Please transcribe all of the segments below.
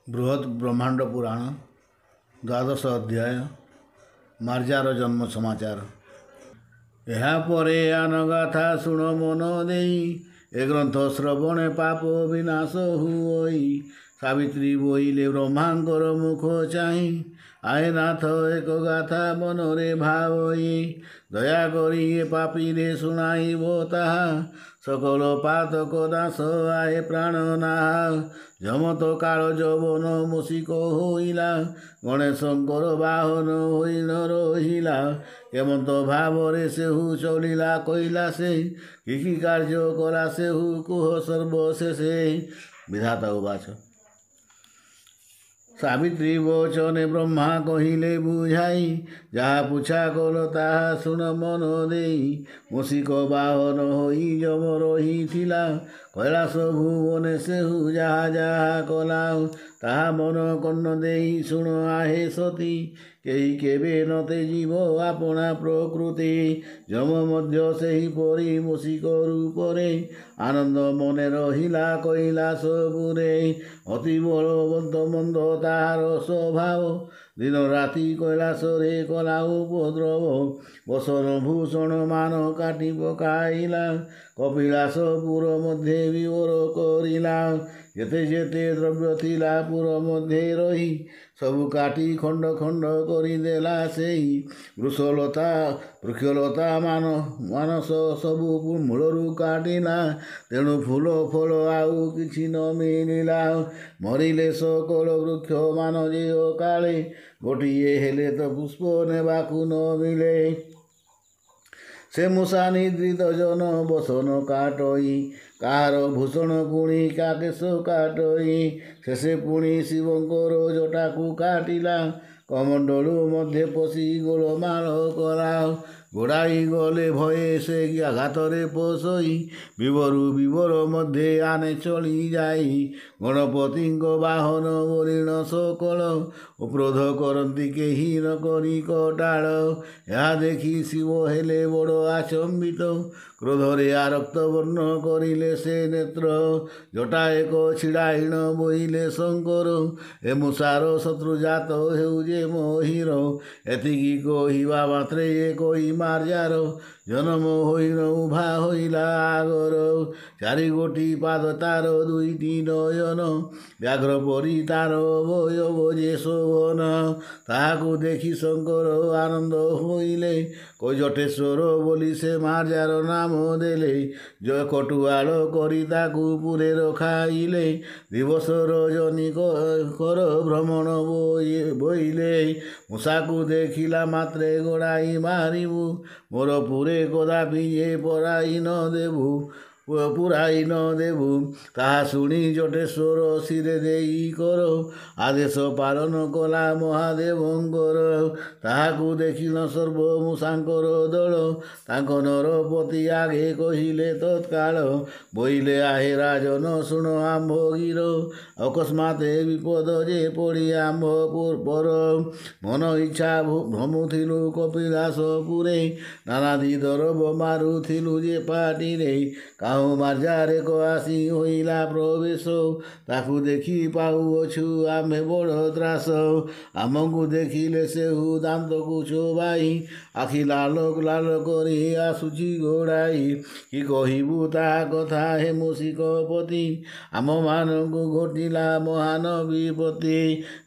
ବୃହତ୍ ବ୍ରହ୍ମାଣ୍ଡ ପୁରାଣ ଦ୍ୱାଦଶ ଅଧ୍ୟାୟ, ମାର୍ଜାର ଜନ୍ମ ସମାଚାର। ଏହାପରେ ଆନ ଗାଥା ଶୁଣ ମନ ଦେଇ, ଏ ଗ୍ରନ୍ଥ ଶ୍ରବଣେ ପାପ ବିନାଶ ହୁଅଇ। ସାବିତ୍ରୀ ବୋଇଲେ ବ୍ରହ୍ମାଙ୍କର ମୁଖ ଚାହିଁ, ଆଏ ନାଥ ଏକ ଗାଥା ମନରେ ଭାବଇ। ଦୟାକରି ଏ ପାପୀରେ ଶୁଣାଇବ ତାହା, ସକଳ ପାତକ ନାଶ ଆଏ ପ୍ରାଣ ନାହା। ଯମତ କାଳ ଯବନ ମୂଷିକ ହୋଇଲା, ଗଣେଶଙ୍କର ବାହନ ହୋଇ ନ ରହିଲା। କେମନ୍ତ ଭାବରେ ସେହୁ ଚଳିଲା କୈଲାସେ, କି କି କାର୍ଯ୍ୟ କଲା ସେହୁ କୁହ ସର୍ବଶେଷେ। ବିଧାତା ଉବାଚ। ସାବିତ୍ରୀ ବଚନେ ବ୍ରହ୍ମା କହିଲେ ବୁଝାଇ, ଯାହା ପୁଛା କଲ ତାହା ଶୁଣ ମନ ଦେଇ। ମୂଷିକ ବାହନ ହୋଇ ଯମ ରହିଥିଲା, କୈଳାସ ଭୁବନେ ସେହୁ ଯାହା ଯାହା କଲା। ତାହା ମନ କର୍ଣ୍ଣ ଦେଇ ଶୁଣ ଆହେ ସତୀ, କେହି କେବେ ନ ତେଜିବ ଆପଣା ପ୍ରକୃତି। ଯମ ମଧ୍ୟ ସେହିପରି ମୂଷିକ ରୂପରେ, ଆନନ୍ଦ ମନେ ରହିଲା କୈଳାସପୁରେ। ଅତି ବଳବନ୍ତ ମନ୍ଦ ତାହାର ସ୍ୱଭାବ, ଦିନ ରାତି କୈଳାସରେ କଲା ଉପଦ୍ରବ। ବସନ ଭୂଷଣ ମାନ କାଟି ପକାଇଲା, କପିଳାସପୁର ମଧ୍ୟେ ବିବର କରିଲା। ଯେତେ ଯେତେ ଦ୍ରବ୍ୟ ଥିଲା ପୁର ମଧ୍ୟେ ରହି, ସବୁ କାଟି ଖଣ୍ଡ ଖଣ୍ଡ କରିଦେଲା ସେହି। ବୃଷଲତା ବୃକ୍ଷଲତା ମାନ ମାନସ ସବୁ ମୂଳରୁ କାଟିଲା, ତେଣୁ ଫୁଲ ଫଳ ଆଉ କିଛି ନ ମିଳିଲା। ମରିଲେ ସକଳ ବୃକ୍ଷ ମାନ ଯେ ଅକାଳେ, ଗୋଟିଏ ହେଲେ ତ ପୁଷ୍ପ ନେବାକୁ ନ ମିଳେ। ସେ ମୂଷା ନିଦ୍ରିତ ଜନ ବସନ କାଟଇ, କାହାର ଭୂଷଣ ପୁଣି କା କେଶ କାଟଇ। ଶେଷେ ପୁଣି ଶିବଙ୍କର ଜଟାକୁ କାଟିଲା, କମଣ୍ଡଳୁ ମଧ୍ୟେ ପଶି ଗୋଳମାଳ କଲା। ଗୋଡ଼ାଇ ଗଲେ ଭୟେ ସେ ଆଘାତରେ ପଶଇ, ବିବରୁ ବିବର ମଧ୍ୟେ ଆନେ ଚଳି ଯାଇ। ଗଣପତିଙ୍କ ବାହନ ବୋଲିଣ ସକଳ, କ୍ରୋଧ କରନ୍ତି କେହି ନ କରି କଟାଳ। ଏହା ଦେଖି ଶିବ ହେଲେ ବଡ଼ ଆଚମ୍ବିତ, କ୍ରୋଧରେ ଆରକ୍ତ ବର୍ଣ୍ଣ କରିଲେ ସେ ନେତ୍ର। ଜଟା ଏକ ଛିଡ଼ାଇଣ ବୋଇଲେ ଶଙ୍କର, ଏ ମୂଷାର ଶତ୍ରୁଜାତ ହେଉ ଯେ ମହିର। ଏତିକି କହିବା ମାତ୍ରେ ଏ କହି ମାର୍ଜାର ଜନମ ହୋଇଣ ଉଭା ହୋଇଲା ଆଗର। ଚାରି ଗୋଟି ପାଦ ତାର ଦୁଇଟି ନୟନ, ବ୍ୟାଘ୍ର ପରି ତାର ଅବୟବ ଯେ ଶୋଭନ। ତାହାକୁ ଦେଖି ଶଙ୍କର ଆନନ୍ଦ ହୋଇଲେ, ଜଟେଶ୍ୱର ବୋଲି ସେ ମାର୍ଜାର ନାମ ଦେଲେ। କଟୁଆଳ କରି ତାକୁ ପୁରେ ରଖାଇଲେ, ଦିବସ ରଜନୀ କର ଭ୍ରମଣ ବୋଇଲେ। ମୂଷାକୁ ଦେଖିଲା ମାତ୍ରେ ଗୋଡ଼ାଇ ମାରିବୁ, ମୋର ପୁରେ କଦାପି ଯେ ପରାଇ ନ ଦେବୁ ପୁରାଇ ନ ଦେବୁ। ତାହା ଶୁଣି ଜଟେଶ୍ୱର ଶିରେ ଦେଇ କର, ଆଦେଶ ପାଳନ କଲା ମହାଦେବଙ୍କର। ତାହାକୁ ଦେଖିଣ ସର୍ବ ମୂଷାଙ୍କର ଦଳ, ତାଙ୍କ ନରପତି ଆଗେ କହିଲେ ତତ୍କାଳ। ବୋଇଲେ ଆହେ ରାଜନ ଶୁଣ ଆମ୍ଭ ଗିର, ଅକସ୍ମାତେ ବିପଦ ଯେ ପଡ଼ି ଆମ୍ଭ ପର। ମନ ଇଚ୍ଛା ଭ୍ରମୁଥିଲୁ କପିଳାସପୁରେ, ନାନାଦି ଦରବ ମାରୁଥିଲୁ ଯେ ପାଟିରେ। କାହୁଁ ମାର୍ଜାରେକ ଆସି ହୋଇଲା ପ୍ରବେଶ, ତାକୁ ଦେଖି ପାଉଅଛୁ ଆମ୍ଭେ ବଡ଼ ତ୍ରାସ। ଆମକୁ ଦେଖିଲେ ସେହୁ ଦାନ୍ତକୁ ଚୋବାଇ, ଆଖି ଲାଲ ଲାଲ କରି ଆସୁଛି ଗୋଡ଼ାଇ। କି କହିବୁ ତା କଥା ହେ ମୂଷିକପତି, ଆମ୍ଭମାନଙ୍କୁ ଘଟିଲା ମହାନ ବିପତ୍ତି।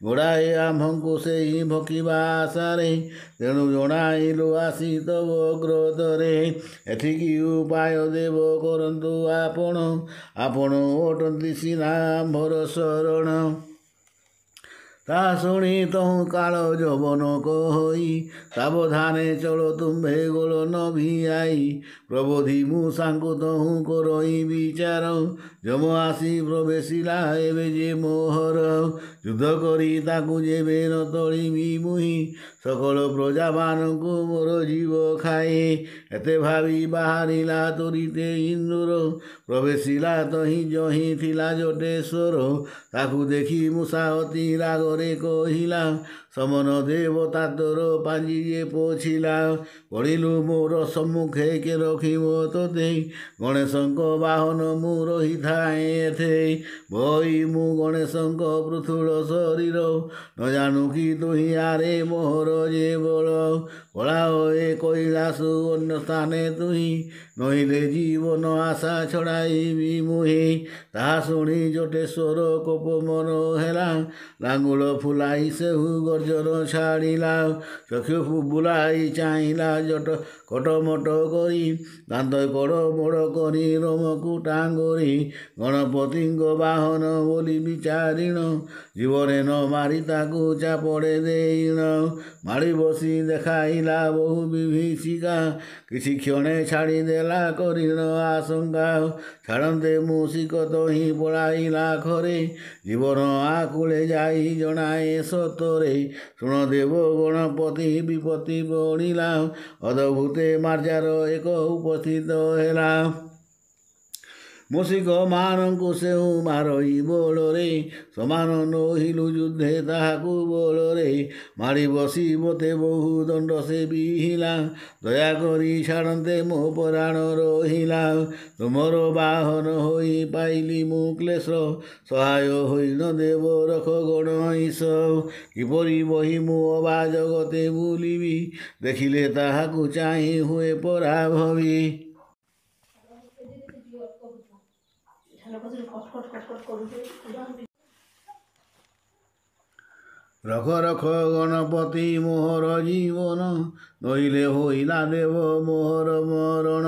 ଗୋଡ଼ାଏ ଆମ୍ଭଙ୍କୁ ସେହି ଭକିବା ଆଶାରେ, ତେଣୁ ଜଣାଇଲୁ ଆସି ତବ ଅଗ୍ରତରେ। ଏଥିକି ଉପାୟ ଦେବ କରନ୍ତୁ ଆପଣ, ଆପଣ ଅଟନ୍ତି ସିନା ଆମ୍ଭର ଶରଣ। ତା ଶୁଣି ତହୁଁ କାଳ ଯବନ କହଇ, ସାବଧାନେ ଚଳ ତୁମ୍ଭେ ଗୋଳ ନ ଭିଆଇ। ପ୍ରବୋଧି ମୂଷାଙ୍କୁ ତହୁଁ କରଇ ବିଚାର, ଯମ ଆସି ପ୍ରବେଶିଲା ଏବେ ଯେ ମୋହର। ଯୁଦ୍ଧ କରି ତାକୁ ଯେବେ ନ ତଳିବି ମୁହିଁ, ସକଳ ପ୍ରଜାମାନଙ୍କୁ ମୋର ଜୀବ ଖାଏ। ଏତେ ଭାବି ବାହାରିଲା ତୋରିତେ ଇନ୍ଦୁର, ପ୍ରବେଶିଲା ତହିଁ ଯହିଁ ଥିଲା ଜଟେଶ୍ୱର। ତାକୁ ଦେଖି ମୂଷା ଅତି ରାଗରେ ଆଗରେ କହିଲା, ସମନ ଦେବତା ତୋର ପାଞ୍ଜି ଯେ ପୋଛିଲା। ପଡ଼ିଲୁ ମୋର ସମ୍ମୁଖେ କେ ରଖିବ ତୋତେ, ଗଣେଶଙ୍କ ବାହନ ମୁଁ ରହିଥାଏ ଏଥେ। ବଇ ମୁଁ ଗଣେଶଙ୍କ ପୃଥୁଳ ଶରୀର, ନ ଜାଣୁ କି ତୁହି ଆରେ ମୋହର ଯେ ବଳ। ପଳାଅ ଏ କୈଳାସ ଅନ୍ୟ ସ୍ଥାନେ ତୁହି, ନହିଲେ ଜୀବନ ଆଶା ଛଡ଼ାଇବି ମୁହିଁ। ତାହା ଶୁଣି ଜଟେଶ୍ୱର କୋପ ମନ ହେଲା, ଲାଙ୍ଗୁଳ ଫୁଲାଇ ସେହୁ ଗର୍ଜନ ଛାଡ଼ିଲା। ଚକ୍ଷୁ ବୁଲାଇ ଚାହିଁଲା ଜଟ କଟମଟ କରି, ଦାନ୍ତ କଡ଼ ମୋଡ଼ କରି ରୋମକୁ ଟାଙ୍ଗରି। ଗଣପତିଙ୍କ ବାହନ ବୋଲି ବିଚାରିଣ, ଜୀବନେ ନ ମାରି ତାକୁ ଚାପଡ଼େ ଦେଇଣ। ମାଡ଼ି ବସି ଦେଖାଇଲା ବହୁ ବିଭୀଷିକା, କିଛି କ୍ଷଣେ ଛାଡ଼ିଦେଲା କରିଣ ଆଶଙ୍କା। ଛାଡ଼ନ୍ତେ ମୂଷିକ ତହିଁ ପଳାଇଲା ଖରେ, ଜୀବନ ଆକୁଳେ ଯାଇ ଜଣାଏ ସତରେ। ଶୁଣ ଦେବ ଗଣପତି ବିପତ୍ତି ପଡ଼ିଲା, ଅଦ୍ଭୁତେ ମାର୍ଜାର ଏକ ଉପସ୍ଥିତ ହେଲା। ମୂଷିକମାନଙ୍କୁ ସେହୁ ମାରଇ ବଳରେ, ସମାନ ନୋହିଲୁ ଯୁଦ୍ଧେ ତାହାକୁ ବଳରେ। ମାଡ଼ି ବସି ମୋତେ ବହୁ ଦଣ୍ଡ ସେ ବିହିଲା, ଦୟାକରି ଛାଡ଼ନ୍ତେ ମୋ ପରାଣ ରହିଲା। ତୁମର ବାହନ ହୋଇ ପାଇଲି ମୁଁ କ୍ଲେଶ, ସହାୟ ହୋଇଣ ଦେବ ରଖ ଗଣଈଶ। କିପରି ବହି ମୁଁ ଅବା ଜଗତେ ବୁଲିବି, ଦେଖିଲେ ତାହାକୁ ଚାହିଁ ହୁଏ ପରାଭବି। ରଖ ରଖ ଗଣପତି ମୋହର ଜୀବନ, ନଇଲେ ହୋଇଲା ଦେବ ମୋହର ମରଣ।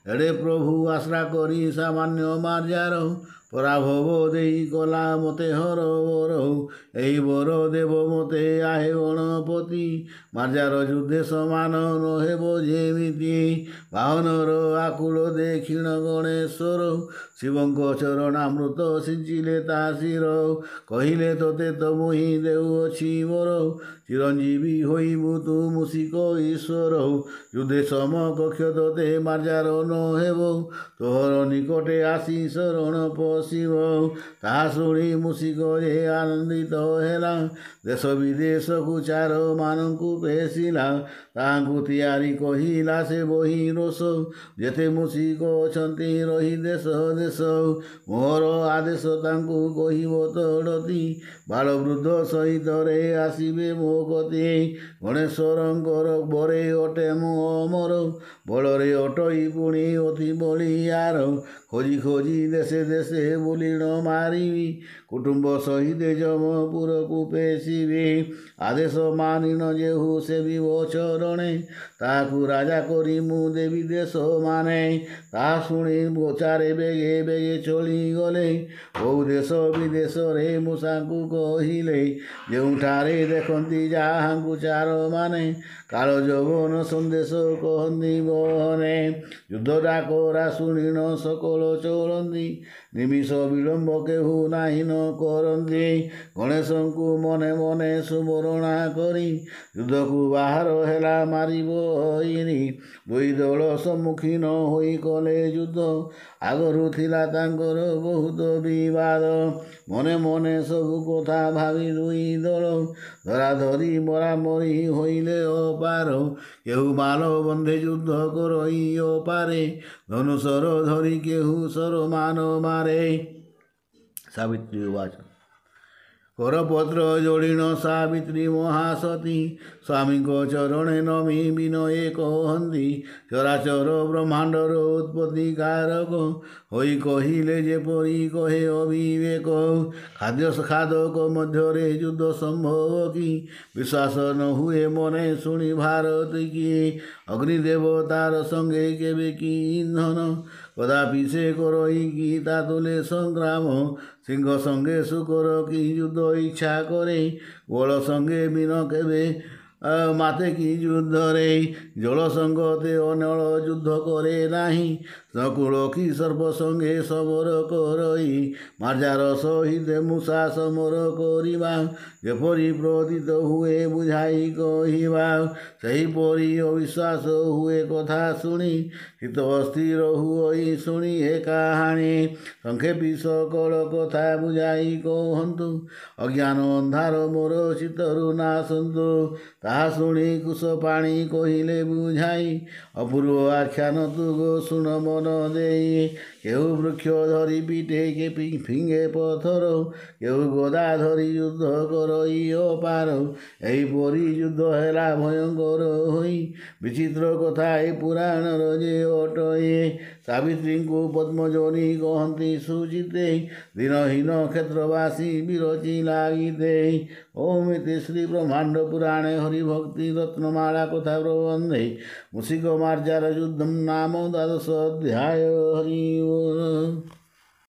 ଏଡ଼େ ପ୍ରଭୁ ଆଶ୍ରା କରି ସାମାନ୍ୟ ମାର୍ଜାର, ପରାଭବ ଦେଇ କଲା ମୋତେ ହର ବର। ଏହି ବର ଦେବ ମୋତେ ଆହେ ଗଣପତି, ମାର୍ଜାର ଯୁଦ୍ଧେ ସମାନ ନ ହେବ ଯେମିତି। ବାହନର ଆକୁଳ ଦେଖିଣ ଗଣେଶ୍ୱର, ଶିବଙ୍କ ଚରଣାମୃତ ସିଞ୍ଚିଲେ ତା ଶିର। କହିଲେ ତୋତେ ତ ମୁହିଁ ଦେଉଅଛି ବର, ଚିରଞ୍ଜୀବୀ ହୋଇବୁ ତୁ ମୂଷିକ ଈଶ୍ୱର। ଯୁଦ୍ଧେ ସମକକ୍ଷ ତୋତେ ମାର୍ଜାର ନ ହେବ, ତୋହର ନିକଟେ ଆସି ଶରଣ ପଶିବ। ତାହା ଶୁଣି ମୂଷିକ ଯେ ଆନନ୍ଦିତ ହେଲା, ଦେଶ ବିଦେଶକୁ ଚାରମାନଙ୍କୁ ପେଶିଲା। ତାହାଙ୍କୁ ତିଆରି କହିଲା ସେ ବହି ରୋଷ, ଯେତେ ମୂଷିକ ଅଛନ୍ତି ରହି ଦେଶ ଦେଶ। ମୋହର ଆଦେଶ ତାଙ୍କୁ କହିବ ତଡ଼ତି, ବାଳବୃଦ୍ଧ ସହିତରେ ଆସିବେ ମୋ କତି। ଗଣେଶ୍ୱରଙ୍କର ବରେ ଅଟେ ମୁଁ ଅମର, ବଳରେ ଅଟଇ ପୁଣି ଅତି ବଳିଆର। ଖୋଜି ଖୋଜି ଦେଶେ ଦେଶେ ବୁଲିଣ ମାରିବି, କୁଟୁମ୍ବ ସହିତେ ଯମପୁରକୁ ପେଶିବି। ଆଦେଶ ମାନିଣ ଯେହୁ ସେବିବ ଚରଣେ, ତାହାକୁ ରାଜା କରି ମୁଁ ଦେବି ଦେଶ ମାନେ। ତାହା ଶୁଣି ଗୋଚାରେ ବେଗେ ବେଗେ ଚଳିଗଲେ, ବହୁ ଦେଶ ବିଦେଶରେ ମୂଷାଙ୍କୁ କହିଲେ। ଯେଉଁଠାରେ ଦେଖନ୍ତି ଯାହାଙ୍କୁ ଚାରମାନେ, କାଳ ଯବନ ସନ୍ଦେଶ କହନ୍ତି ବହନେ। ଯୁଦ୍ଧ ଡାକରା ଶୁଣିଣ ସକଳ ଚଳନ୍ତି, ନିମିଷ ବିଳମ୍ବ କେହୁ ନାହିଁ ନ କରନ୍ତି। ଗଣେଶଙ୍କୁ ମନେ ମନେ ସୁମରଣା କରି, ଯୁଦ୍ଧକୁ ବାହାର ହେଲା ମାରିବ ଅଇରି। ଦୁଇ ଦଳ ସମ୍ମୁଖୀନ ହୋଇ କଲେ ଯୁଦ୍ଧ, ଆଗରୁ ଥିଲା ତାଙ୍କର ବହୁତ ବିବାଦ। ମନେ ମନେ ସବୁ କଥା ଭାବି ଦୁଇ ଦଳ, ଧରାଧରି ମରାମରି ହୋଇଲେ ଅପାର। କେହୁ ମାଲ ବନ୍ଧେ ଯୁଦ୍ଧ କରଇ ଅପାରେ, ଧନୁଶର ଧରି କେହୁ ଶରମାନ ମାରେ। ସାବିତ୍ରୀ ଉବାଚ। କରପତ୍ର ଯୋଡ଼ିଣ ସାବିତ୍ରୀ ମହାସତୀ, ସ୍ୱାମୀଙ୍କ ଚରଣେ ନମି ବିନୟେ କହନ୍ତି। ଚରାଚର ବ୍ରହ୍ମାଣ୍ଡର ଉତ୍ପତ୍ତି କାରକ ହୋଇ କହିଲେ ଯେପରି କହେ ଅବିବେକ। ଖାଦ୍ୟ ଖାଦକ ମଧ୍ୟରେ ଯୁଦ୍ଧ ସମ୍ଭବ କି, ବିଶ୍ୱାସ ନ ହୁଏ ମନେ ଶୁଣି ଭାରତ କି। ଅଗ୍ନିଦେବତାର ସଙ୍ଗେ କେବେ କି ଇନ୍ଧନ, କଦାପି ସେ କରଇ କି ତା ତୁଲେ ସଂଗ୍ରାମ। ସିଂହ ସଙ୍ଗେ ଶୁକର କି ଯୁଦ୍ଧ ଇଚ୍ଛା କରେ, ବଳ ସଙ୍ଗେ ମୀନ କେବେ ମାତେ କି ଯୁଦ୍ଧରେ। ଜଳ ସଙ୍ଗତେ ଅନଳ ଯୁଦ୍ଧ କରେ ନାହିଁ, ନକୁଳ କି ସର୍ପ ସଙ୍ଗେ ସମର କରଇ। ମାର୍ଜାର ସହିତ ମୂଷା ସମର କରିବା ଯେପରି ପ୍ରତୀତ ହୁଏ ବୁଝାଇ କହିବା, ସେହିପରି ଅବିଶ୍ୱାସ ହୁଏ କଥା ଶୁଣି, ଚିତ୍ତ ଅସ୍ଥିର ହୁଅଇ ଶୁଣି ଏ କାହାଣୀ। ସଂକ୍ଷେପି ସକଳ କଥା ବୁଝାଇ କହନ୍ତୁ, ଅଜ୍ଞାନ ଅନ୍ଧାର ମୋର ଚିତ୍ତରୁ ନାଶନ୍ତୁ। ତାହା ଶୁଣି କୁଶପାଣି କହିଲେ ବୁଝାଇ, ଅପୂର୍ବ ଆଖ୍ୟାନ ତୁ ଗୋ ଶୁଣ ମନ ଦେଇ। କେଉଁ ବୃକ୍ଷ ଧରି ପିଟେ କେ ଫିଙ୍ଗେ ପଥର, କେଉଁ ଗଦା ଧରି ଯୁଦ୍ଧ କରଇ ଅପାର। ଏହିପରି ଯୁଦ୍ଧ ହେଲା ଭୟଙ୍କର ହୋଇ, ବିଚିତ୍ର କଥା ଏ ପୁରାଣର ଯେ ଅଟଇ। ସାବିତ୍ରୀଙ୍କୁ ପଦ୍ମଯୋନି କହନ୍ତି ସୁଚିତେ, ଦିନହୀନ କ୍ଷେତ୍ରବାସୀ ବିରଚି ଲାଗିତେ। ଓମ୍ ଇତି ଶ୍ରୀ ବ୍ରହ୍ମାଣ୍ଡ ପୁରାଣେ ହରିଭକ୍ତି ରତ୍ନମାଳା କଥା ପ୍ରବନ୍ଧେ ମୂଷିକ ମାର୍ଜାର ଯୁଦ୍ଧಂ ନାମ ଦ୍ୱାଦଶ ଅଧ୍ୟାୟ। ହରି ଓମ୍।